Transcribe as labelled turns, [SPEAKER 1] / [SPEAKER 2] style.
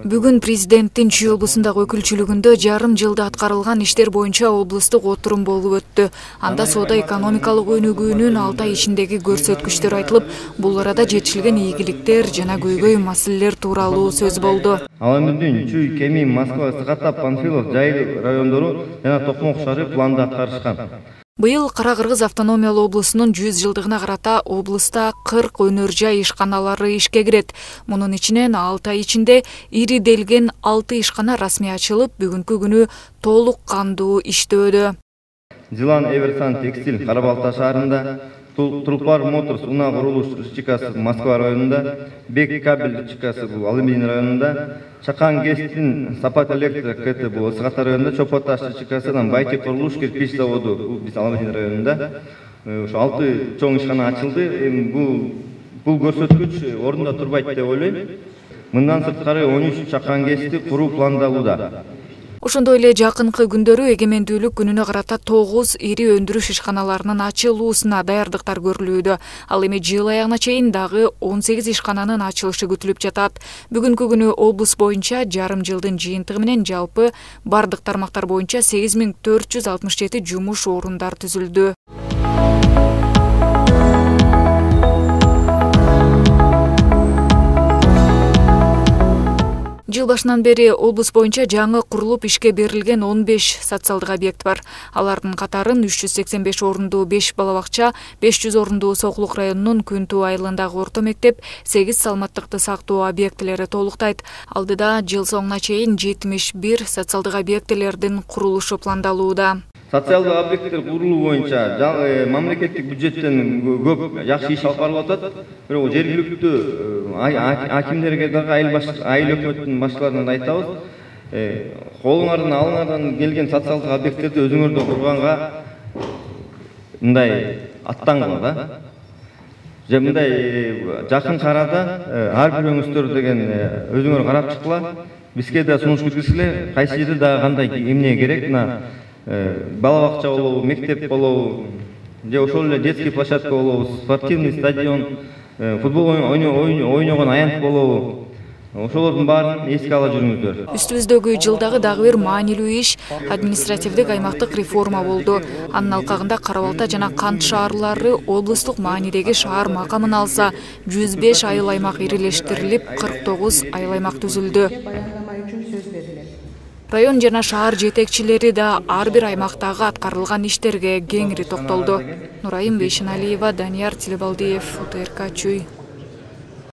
[SPEAKER 1] Бүгүн президенттин Чүй облусундагы өкүлчүлүгүндө жарым жылда аткарылган иштер боюнча облустук отурум болуп өттү. Анда соода-экономикалык өнүгүүнүн 6 ай ичиндеги көрсөткүчтөр айтылып, бул арада жетишилген ийгиликтер жана көйгөй маселелер тууралуу сөз болду.
[SPEAKER 2] Аламүндүн Чүй, Кеми, Москва, Сыкатап, Панфилов, Жайыл райондору жана Токмок шаары планда аткарышкан.
[SPEAKER 1] Быйыл Кара-Кыргыз автономиялуу облусунун 100 жылдыгына карата облуста 40 өнөр жай ишканалары ишке кирет. Мунун ичинен 6 ай ичинде ириделген 6 ишкана расмий ачылып, бүгүнкү күнү толук кандуу иштөөдө.
[SPEAKER 2] Зилан Эверсан текстиль Кара-Балта шаарында, Трупар Моторс Уна курулуш РЧКсы Москва районунда, Бек кабель РЧКсы Алымин районунда, Чакан Гестин Сапат электро КТ Сыкатар районунда, Чопоташ РЧКсы Байти курулуш кирпич заводу биз Алымин районунда ошо 6 чоң ишкана ачылды. Бул көрсөткүч орунда турбайт деп ойлойм. Мындан сырткары 13 Чакан Гести куруу пландалууда.
[SPEAKER 1] Ошондой эле жакынкы күндөрү эгемендүүлүк күнүнө карата 9 ири өндүрүш ишканаларынын ачылуусуна даярдыктар көрүлүүдө. Ал эми жыл аягына чейин дагы 18 ишкананын ачылышы күтүлүп жатат. Бүгүнкү күнү облус боюнча жарым жылдын жыйынтыгы менен жалпы бардык тармактар боюнча 8467 жумуш орундар түзүлдү. Жыл башынан бери облус боюнча жаңы курулуп ишке берилген 15 социалдык объект бар. Алардын катарын 385 орундуу 5 бала бакча, 500 орундуу Сокулук районунун Күнтүү айылындагы орто мектеп, 8 саламаттыкты сактоо объектилери толуктайт. Алдыда жыл соңуна чейин 71 социалдык объектилердин курулушу пландалууда.
[SPEAKER 2] Социалдык объекттер курулуу боюнча мамлекеттик бюджеттен көп жакшы иш алып барылып атат. Бирок жергиликтүү акимдерге дагы айыл өкмөттүн башчыларына айтабыз. Колуңардан алыңардан келген социалдык объекттерди өзүңөрдө курганга мындай аттангыла да. Же мындай жакын арада ар бирөөңүздөр деген өзүңөр карап чыккыла. Бизге да сунуш киргизгиле, кайсы жерде дагы кандай эмне керек, бала бакча болобу, мектеп болобу, же ошол эле детский площадка болобу, спортивный стадион, футбол ойногон аянт болобу. Ошолордун баарын эске ала жүрүңүздөр.
[SPEAKER 1] Үстүбүздөгү жылдагы дагы бир маанилүү иш административдик аймактык реформа болду. Анын алкагында Кара-Балта жана Кант шаарлары облустук маанидеги шаар макамын алса, 105 айыл аймак ирилештирилип, 49 айыл аймак түзүлдү. Район жана шаар жетекчилери да ар бир аймактагы аткарылган иштерге кеңири токтолду. Нурайым Бейшеналиева, Данияр Тилебалдиев, УТРК Чүй.